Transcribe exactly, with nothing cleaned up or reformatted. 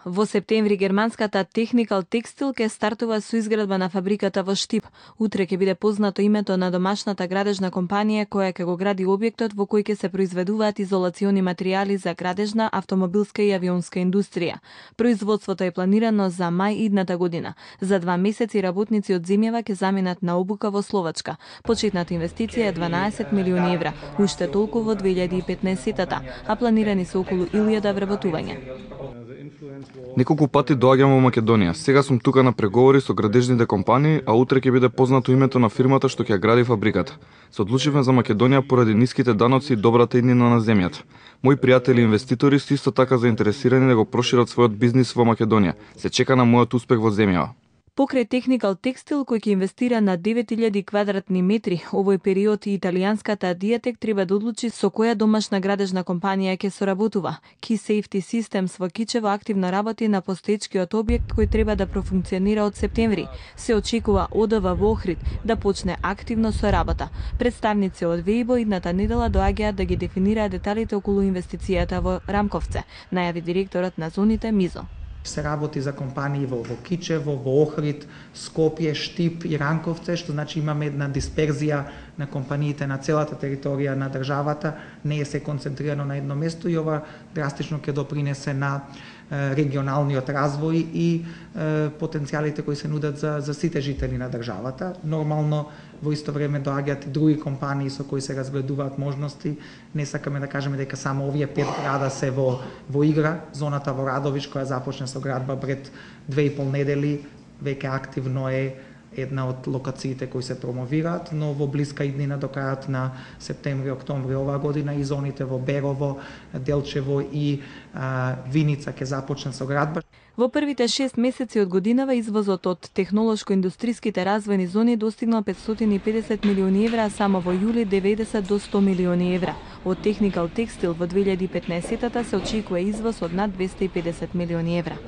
Во септември германската Technical Textile ќе стартува со изградба на фабриката во Штип. Утре ќе биде познато името на домашната градежна компанија која ќе го гради објектот во кој ќе се произведуваат изолациони материјали за градежна, автомобилска и авионска индустрија. Производството е планирано за мај идната година. За два месеци работници од земјава ќе заминат на обука во Словачка. Почетната инвестиција е дванаесет милиони евра, уште толку во две илјади и петнаесетта, а планирани се околу илјада вработувања. Неколку пати доаѓам во Македонија. Сега сум тука на преговори со градежните компании, а утре ќе биде познато името на фирмата што ќе ја гради фабриката. Се одлучивме за Македонија поради ниските даноци и добрата иднина на земјата. Мои пријатели инвеститори се исто така заинтересирани да го прошират својот бизнис во Македонија. Се чека на мојот успех во земјава. Покрај Technical Textile, кој ќе инвестира на девет илјади квадратни метри, овој период и италијанската Diatec треба да одлучи со која домашна градежна компанија ќе соработува. Key Safety Systems во Кичево активно работи на постоечкиот објект кој треба да профункционира од септември. Се очекува О Д В во Охрид да почне активно со работа. Представници од Вејбо идната недела доаѓаат да ги дефинираат деталите околу инвестицијата во Рамковце, најави директорот на зоните Мизо. Се работи за компании во, во Кичево, во Охрид, Скопје, Штип и Ранковце, што значи имаме една дисперзија на компаниите на целата територија на државата, не е се концентрирано на едно место и ова драстично ќе допринесе на регионалниот развој и е, потенцијалите кои се нудат за, за сите жители на државата. Нормално во исто време доаѓаат и други компании со кои се разгледуваат можности. Не сакаме да кажеме дека само овие пет града се во, во игра. Зоната во Радовиш која започна со градба пред две и пол недели веќе активно е една од локациите кои се промовираат, но во блиска иднина до крајот на септември-октомври оваа година и зоните во Берово, Делчево и а, Виница ќе започнат со градба. Во првите шест месеци од годинава извозот од технолошко-индустриските развојни зони достигнал петстотини и педесет милиони евра, а само во јули деветдесет до сто милиони евра. Од Technical Textile во две илјади и петнаесетта се очекува извоз од над двесте и педесет милиони евра.